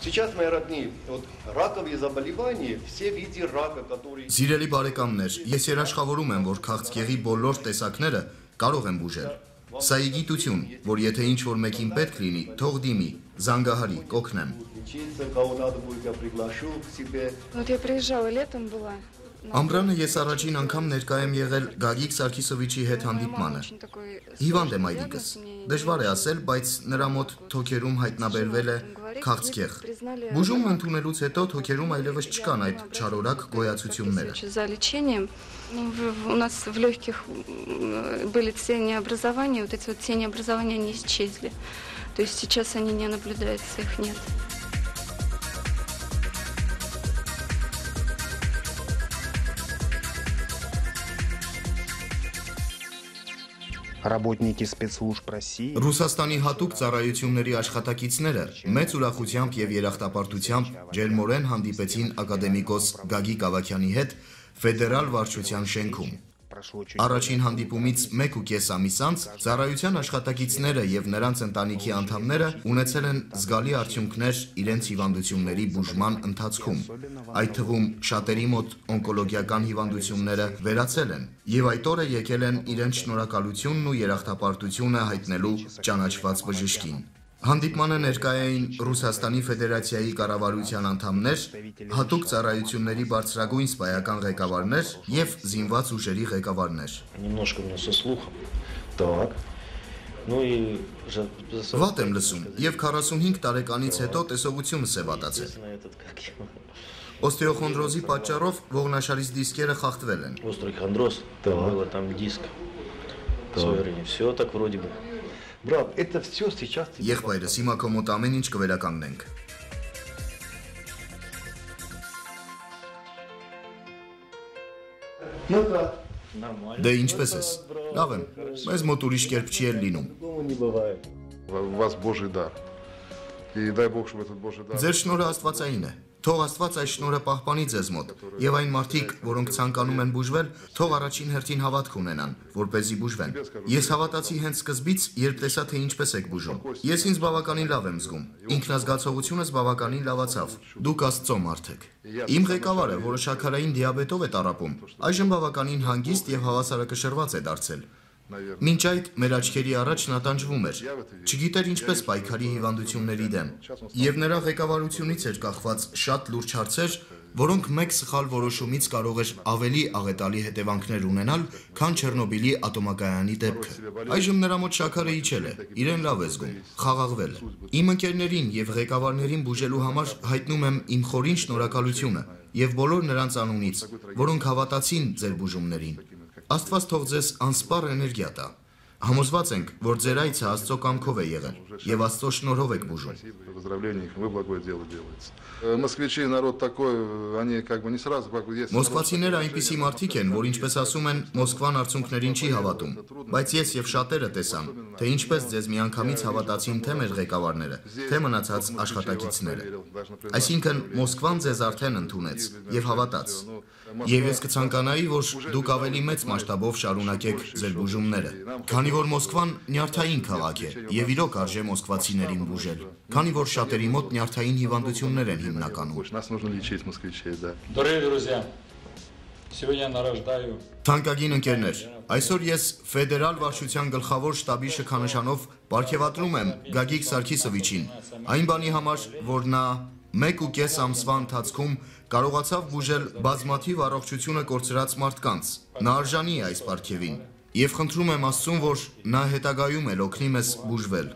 Сейчас, мои родные, вот раковые заболевания, все виды рака, которые... Սիրելի բարեկամներ, ես երաշխավորում եմ, որ քաղցկեղի բոլոր տեսակները կարող են բուժել։ Սա է գիտություն, որ եթե ինչ-որ մեկին պետք լինի, թող դիմի, զանգահարի, կօգնեմ։ Вот я приезжала, летом была. Ամռանը ես առաջին անգամ ներկա եմ եղել Գագիկ Սարգիսովիչի հետ հանդիպմանը։ Հիվանդ եմ այդիկս։ Դժվար է ասել, բայց նրա մոտ թոքերում հայտնաբերվել է քաղցկեղ։ Բուժումը ընդունելուց հետո թոքերում այլևս չկան այդ չարորակ գոյացությունները։ За лечением у нас в легких были тенеобразования, вот эти вот тенеобразования они исчезли. То есть сейчас они не наблюдаются, их нет. Работники спецслужб России Ռուսաստանի հատուկ ծառայությունների աշխատակիցները մեծ ուրախությամբ եւ երախտապարտությամբ ջերմորեն հանդիպեցին ակադեմիկոս Գագիկ Ավագյանի հետ ֆեդերալ վարչության շենքում։ Առաջին հանդիպումից 1.5 ամիս անց ծառայության աշխատակիցները եւ նրանց ընտանիքի անդամները ունեցել են զգալի արդյունքներ իրենց հիվանդությունների բուժման ընթացքում։ Այդ թվում շատերի մոտ օնկոլոգիական հիվանդությունները վերացել են եւ այդ օրը եկել են իրենց շնորհակալությունն ու երախտապարտությունը հայտնելու ճանաչված բժշկին։ Հանդիպմանը ներկա էին Ռուսաստանի Ֆեդերացիայի կառավարության անդամներ, հատուկ ծառայությունների բարձրագույն սպայական ղեկավարներ եւ զինված ուժերի ղեկավարներ։ Վատ եմ լսում եւ 45 տարեկանից հետո տեսողությունս է վատացել։ Օստեոխոնդրոզի պատճառով ողնաշարից դիսկերը խախտվել են։ Եղբայրս, հիմա քո մոտ ամեն ինչ կվերականգնենք։ Դե ինչպես ես։ Լավ եմ, մեզ մոտ ուրիշ կերպ չի էլ լինում։ Ձեր շնորհը աստվածային է։ Թող Աստված այս շնորհը պահպանի ձեզ մոտ, եւ այն մարդիկ, որոնք ցանկանում են բուժվել, թող առաջին հերթին հավատք ունենան, որպեսզի բուժվեն։ Ես հավատացի հենց սկզբից, երբ տեսա, թե ինչպես եք բուժում։ Ես ինձ բավականին լավ եմ զգում։ Ինքնազգացողությունս բավականին լավացավ։ Դուք Աստծո մարդ եք։ Իմ ղեկավարը, որը շաքարային դիաբետով է տառապում, այժմ բավականին հանգիստ եւ հավասարակշռված է դարձել։ Մինչ այդ մեր աչքերի առաջ նա տանջվում էր, չգիտեր ինչպես պայքարի հիվանդությունների դեմ, եւ նրա ղեկավարությունից էր կախված շատ լուրջ հարցեր, որոնք մեկ սխալ որոշումից կարող էր ավելի աղետալի հետևանքներ ունենալ, քան Չեռնոբիլի ատոմակայանի դեպքը։ Այժմ նրա մոտ շաքարը իջել է, իրեն լավ է զգում, խաղաղվել։ Իմ ընկերներին եւ ղեկավարներին բուժելու համար հայտնում եմ իմ խորին շնորհակալությունը եւ բոլոր նրանց անունից, որոնք հավատացին ձեր բուժումներին։ Աստված թող ձեզ անսպառ էներգիա տա։ Համոզված ենք, որ ձեր այցը Աստծո կամքով է եղել եւ Աստծո շնորհով եք բուժում։ Մոսկվացիները այնպիսի մարդիկ են, որ ինչպես ասում են, Մոսկվան արդյունքներին չի հավատում, բայց ես եւ շատերը տեսան, թե ինչպես ձեզ միանգամից հավատացին թե մեր ղեկավարները, թե մնացած աշխատակիցները։ Այսինքն Մոսկվան ձեզ արդեն ընդունեց եւ հավատաց։ Եվ ես կցանկանայի, որ դուք ավելի մեծ մասշտաբով շարունակեք ձեր բուժումները, քանի որ Մոսկվան նյարդային քաղաք է եւ իրոք արժե մոսկվացիներին բուժել, քանի որ շատերի մոտ նյարդային հիվանդություններ են հիմնականում։ Թանկագին ընկերներ, այսօր ես ֆեդերալ վարչության գլխավոր շտաբի շքանշանով պարգևատրում եմ Գագիկ Սարգիսովիչին, այն բանի համար, որ նա 1.5 ամսվա ընթացքում կարողացավ բուժել բազմաթիվ առողջությունը կորցրած մարդկանց։ Նա արժանի է այս պարգևին եւ խնդրում եմ Աստծուն, որ նա հետագայում էլ օգնի մեզ բուժվել։